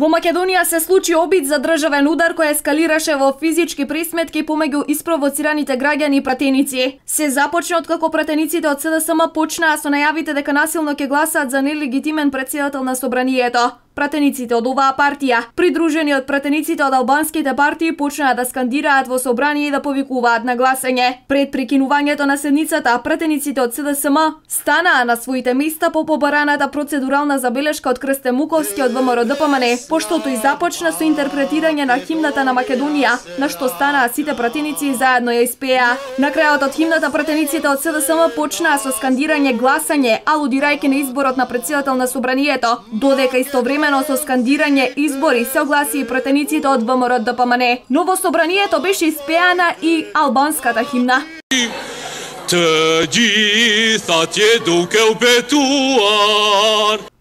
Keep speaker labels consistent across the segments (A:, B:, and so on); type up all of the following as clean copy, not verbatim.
A: Во Македонија се случи обид за државен удар кој ескалираше во физички пресметки помеѓу испровоцираните граѓани и пратеници. Се започна откако пратениците од СДСМ почнаа со најавите дека насилно ќе гласаат за нелегитимен претседател на собранието. Пратениците од оваа партија, придружени од пратениците од албанските партии, почнаа да скандираат во собрание и да повикуваат на гласање. Пред прекинувањето на седницата, пратениците од СДСМ станаа на своите места по побараната процедурална забелешка од Крсте Муковски од ВМРО ДПМН, поштото и започна со интерпретирање на химната на Македонија, на што станаа сите пратеници и заедно ја испеа. На крајот од химната пратениците од СДСМ почнаа со скандирање гласање, алудирајќи на изборот на претседател на собранието, додека истовремено со скандирање избори се огласи и пратениците од ВМРО ДПМН. Но во собранието беше испеана и албанската химна.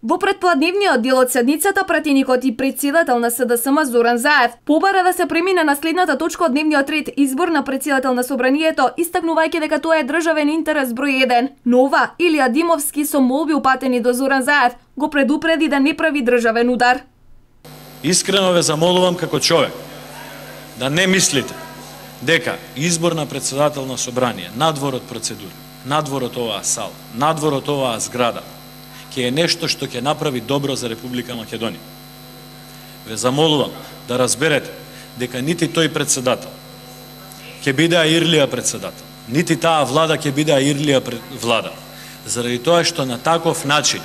A: Во претпладневниот дел од седницата, пратеникот и претседател на СДСМ Зоран Заев побара да се премине на следната точка од дневниот ред, избор на претседател на собранието, истакнувајќи дека тоа е државен интерес број 1. Но ова Илија Димовски со молби упатени до Зоран Заев го предупреди да не прави државен удар.
B: Искрено ве замолувам како човек да не мислите дека избор на претседател на собрание, надвор од процедура, надвор од оваа сала, надвор од оваа зграда, ќе е нешто што ќе направи добро за Република Македонија. Ве замолувам да разберете дека нити тој председател ќе биде Ирлија председател, нити таа влада ќе биде Ирлија влада, заради тоа што на таков начин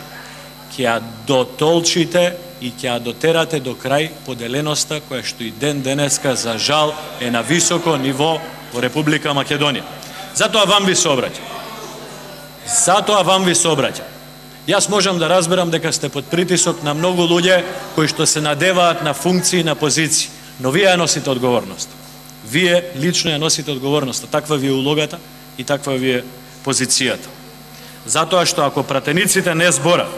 B: ќе ја дотолчите и ќе ја дотерате до крај поделеноста која што и ден денеска за жал е на високо ниво во Република Македонија. Затоа вам ви се обраќам. Јас можам да разберам дека сте под притисок на многу луѓе кои што се надеваат на функции, на позиции, но вие ја носите одговорност. Вие лично ја носите одговорноста, таква ви е улогата и таква ви е позицијата. Затоа што ако пратениците не зборат,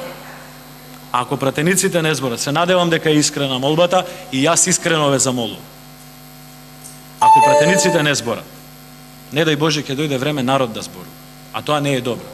B: се надевам дека е искрена молбата и јас искрено ве замолувам. Ако пратениците не зборат, не дај Боже ќе дојде време народ да зборува, а тоа не е добро.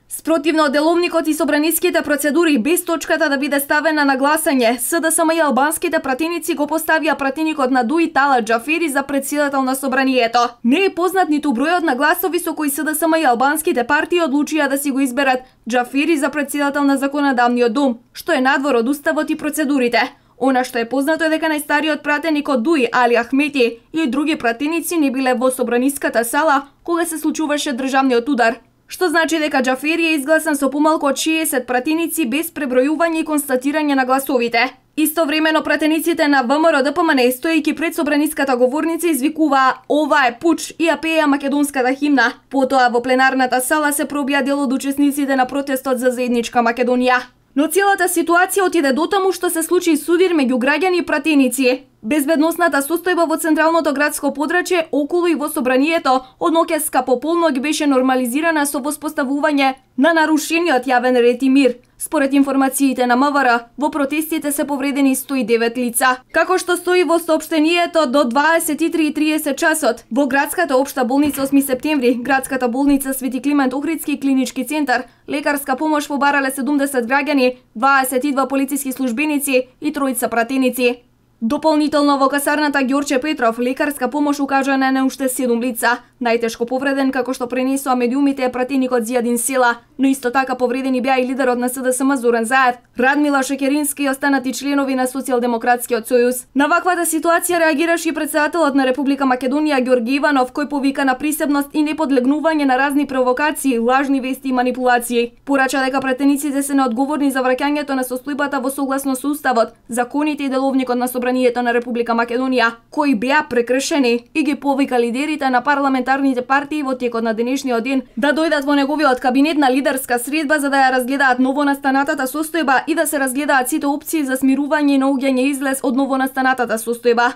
A: Спротивно од деловникот и собраниските процедури, без точката да биде ставена на гласање, СДСМ и албанските пратеници го поставија пратеникот на ДУИ Талат Џафери за претседател на собранието. Не е познат ниту бројот на гласови со кои СДСМ и албанските партии одлучија да си го изберат Џафери за претседател на Законодавниот дом, што е надвор од уставот и процедурите. Она што е познато е дека најстариот пратеник од ДУИ, Али Ахмети, и други пратеници не биле во собраниската сала кога се случуваше државниот удар, што значи дека Џафери е изгласан со помалку од 60 пратеници без пребројување и констатирање на гласовите. Истовремено пратениците на ВМРО ДПМН, стоејќи пред собраниската говорница, извикуваа "Ова е пуч" и ја пееа македонската химна. Потоа во пленарната сала се пробија дел од учесниците на протестот за заедничка Македонија. Но целата ситуација отиде дотаму што се случи судир меѓу граѓани и пратеници. Безбедносната состојба во централното градско подрачје, околу и во собранието, од ноќеска по полноќ беше нормализирана со воспоставување на нарушениот јавен ред и мир. Според информациите на МВР, во протестите се повредени 109 лица. Како што стои во соопштението, до 23:30 часот во градската општа болница 8 септември, градската болница Свети Климент Охридски и клинички центар, лекарска помош побарале 70 граѓани, 22 полициски службеници и 3 пратеници. Дополнително во касарната Ѓорче Петров лекарска помош укажана на уште 7 лица. Најтешко повреден, како што пренесоа медиумите, е пратеникот Зијадин Села, но исто така повредени беа и лидерот на СДСМ Зоран Заев, Радмила Шекерински и останати членови на Социјалдемократскиот сојуз. На ваквата ситуација реагираше и претседателот на Република Македонија Ѓорги Иванов, кој повика на присебност и неподлегнување на разни провокации, лажни вести и манипулации. Порача дека пратениците се неодговорни за враќањето на состојбата во согласно со уставот, законите и деловникот на собранието на Република Македонија, кои беа прекршени, и ги повика лидерите на парламентарните партии во текот на денешниот ден да дојдат во неговиот кабинет на лидерска средба за да ја разгледаат новонастанатата состојба и да се разгледаат сите опции за смирување и наоѓање излез од новонастанатата состојба.